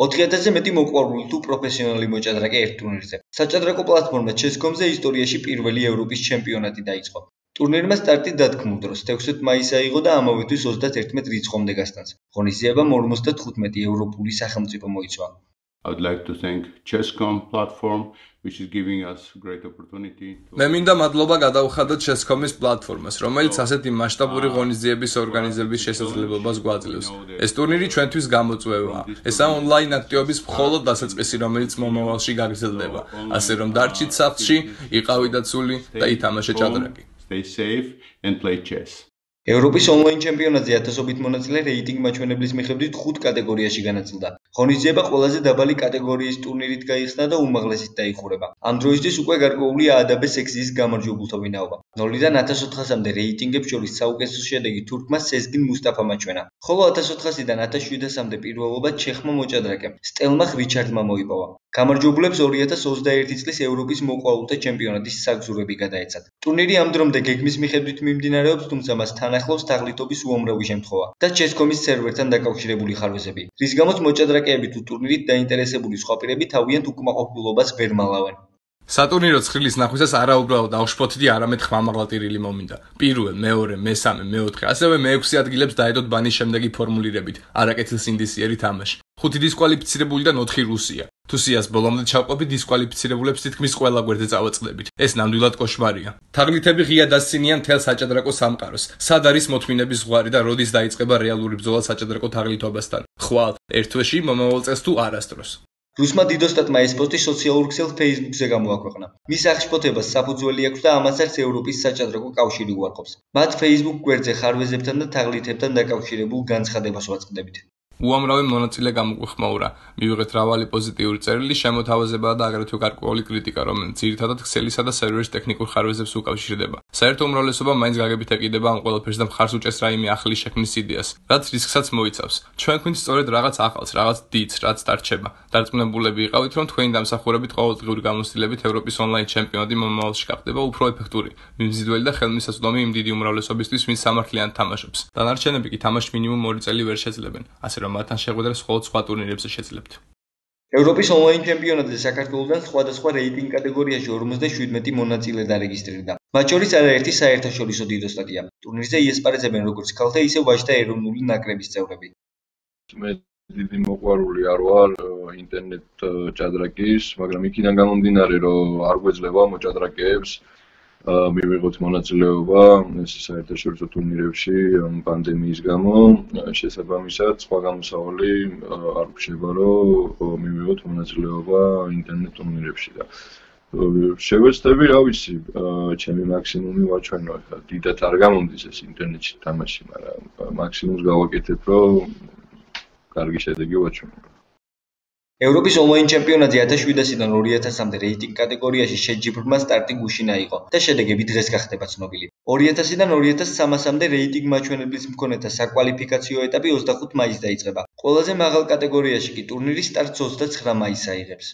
4000-ზე მეტი მოყვარული თუ პროფესიონალი მოჭადრაკე ერთ ტურნირზე. საჭადრაკო პლატფორმა Chess.com-ზე ისტორიაში პირველი ევროპის ჩემპიონატი დაიწყო. ტურნირმა სტარტი დათქმულ დროს 16 მაისს აიღო და ამავე თვის 31 რიცხვამდე გასტანს. ღონისძიებამ 55 ევროპული სახელმწიფო მოიცვა. I would like to thank Chess.com platform which is giving us great opportunity to მე მინდა მადლობა გადავხადოთ Chess.com-ის პლატფორმას, რომელიც ასეთი მასშტაბური ღონისძიების ორგანიზების შესაძლებლობას გვაძლევს. ეს ტურნირი ჩვენთვის გამოწვევაა. ესაა ონლაინ აქტივობის მხოლოდ დასაწყისი, რომელიც მომავალში გაგრძელდება. ასე რომ დარჩით სახლში, იყავით დაცული და ითამაშე ჭადრაკი. stay safe and play chess. ევროპის ონლაინ ჩემპიონატზე ათასობით მონაწილე რეიტინგ მაჩვენებლის მიხედვით 5 კატეგორიაში განაწილდა. ღონისძიება ყველაზე დაბალი კატეგორიის ტურნირით გაიხსნა და უმაღლესით დაიხურება. ამ დროისთვის უკვე გარკვეულია ADB სექციის გამარჯვებულთა ვინაობა. 0-დან 1400-მდე რეიტინგებს შორის საუკეთესო შედეგი თურქმა სეზგინ მუსტაფამ აჩვენა, ხოლო 1400-დან 1700-მდე პირველობა ჩეხმა მოჭადრაკემ სტელმახ რიჩარდმა მოიპოვა. გამარჯვებულებს 2021 წლის ევროპის მოყვარულთა ჩემპიონატის საგზურები გადაეცათ. ტურნირი ამ დრომდე გეგმის მიხედვით მიმდინარეობს, თუმცა მას თან ახლავს თაღლითობის უამრავი შემთხვევა და Chess.com-ის სერვერთან დაკავშირებული ხარვეზები, რის გამოც მოჭადრაკეები თუ ტურნირით დაინტერესებული სხვა პირები თავიანთ უკმაყოფილებას ვერ მალავენ. სატურნირო ცხრილის ნახვისას არა უბრალოდ აღშფოთდი, არამედ ხმამაღალტირილი მომინდა. პირველ, მეორე, მესამე, მეოთხე, ასევე მეექვსე ადგილებს დაედოთ ბანის შემდეგი ფორმულირებით. არაკეთილ ინდისიერი თამაში. 5 დისკვალიფიცირებულიდან 4 რუსია. თუ სიას ბოლომდე ჩავყვებით, დისკვალიფიცირებულებს თითქმის ყველა გვერდზე წავაწყდებით. ეს ნამდვილად კოშმარია. თაღლითები ღია დასცინიან მთელ საჭადრაკო სამყაროს. სად არის მოთმინების ზღვარი და როდის დაიწყება რეალური ბრძოლა საჭადრაკო თაღლითობასთან? ხვალ, ერთ თვეში, მომავალ წელს თუ არასდროს. რუსმა დიდოსტატმა ეს პოსტი სოციალურ ქსელ Facebook-ზე გამოაქვეყნა. მის აღშფოთებას საფუძველი აქვს და ამას არც ევროპის საჭადრაკო კავშირი უარყოფს. მათ Facebook გვერდზე ხარვეზებთან და თაღლითებთან დაკავშირებულ განცხადებას ვაწყდებით. უამრავი მონაწილე გამოგვეხმაურა. მივიღეთ მრავალი პოზიტიური წერილი, შემოთავაზება და აგრეთვე გარკვეული კრიტიკა, რომელიც ძირითადად ქსელისა და სერვერის ტექნიკურ ხარვეზებს უკავშირდება. საერთო უმრავლესობა მაინც გაგებით ეკიდება ამ ყველაფერს და მხარს უჭერს რაიმე ახალი შექმნის იდეას, რაც რისკსაც მოიცავს. ჩვენ გვინდა სწორედ რაღაც ახალს, რაღაც დიდს, რაც დარჩება. დარწმუნებულები იყავით, რომ თქვენი დამსახურებით ყოველდღიური გამოცდილებით ევროპის ონლაინ ჩემპიონატი მომავალში გახდება უფრო ეფექტური, მიმზიდველი და ხელმისაწვდომი იმ დიდი უმრავლესობისთვის, ვინც სამართლიანად თამაშობს. დანარჩენები კი თამაშს მინიმუმ 2 წელი ვერ შეძლებენ. ასე რომ მათთან შეხვედრას მხოლოდ სხვა ტურნირებზე შეძლებთ. ევროპის ონლაინ ჩემპიონატზე საქართველოსთან სხვადასხვა რეიტინგ კატეგორიაში 57 მონაწილე დარეგისტრირდა. მათ შორის არაერთი საერთაშორისო დიდოსტატია. ტურნირზე იესპარეზებენ როგორც ქალთა, ისე ვაჟთა ეროვნული ნაკრების წევრები. მე დიდი მოყვარული არ ვარ ინტერნეტ ჭადრაკის, მაგრამ იქიდან გამომდინარე, რომ არ გვეძლება მოჭადრაკეებს მივიღოთ მონაწილეობა ეს საერთაშორისო ტურნირებში პანდემიის გამო, შესაბამისად სხვა გამოსავალი არ გვჩნდება, რომ მივიღოთ მონაწილეობა ინტერნეტ ტურნირებში და შევეცდები, რა ვიცი, ჩემი მაქსიმუმი ვაჩვენო, ხა დიდად არ გამომდის ეს ინტერნეტში თამაში, მაგრამ მაქსიმუმს გავაკეთებ, რომ კარგი შედეგი ვაჩვენო. ევროპის ონლაინ ჩემპიონატზე 1700-დან 2000-მდე რეიტინგ კატეგორიაში შეჯიბრმა სტარტი გუშინ აიღო და შედეგები დღეს გახდება ცნობილი. 2000-დან 2300-მდე რეიტინგ მაჩვენებლის მქონეთა საკვალიფიკაციო ეტაპი 25 მაისს დაიწყება. ყველაზე მაღალ კატეგორიაში კი ტურნირის სტარტს 29 მაისს აიღებს.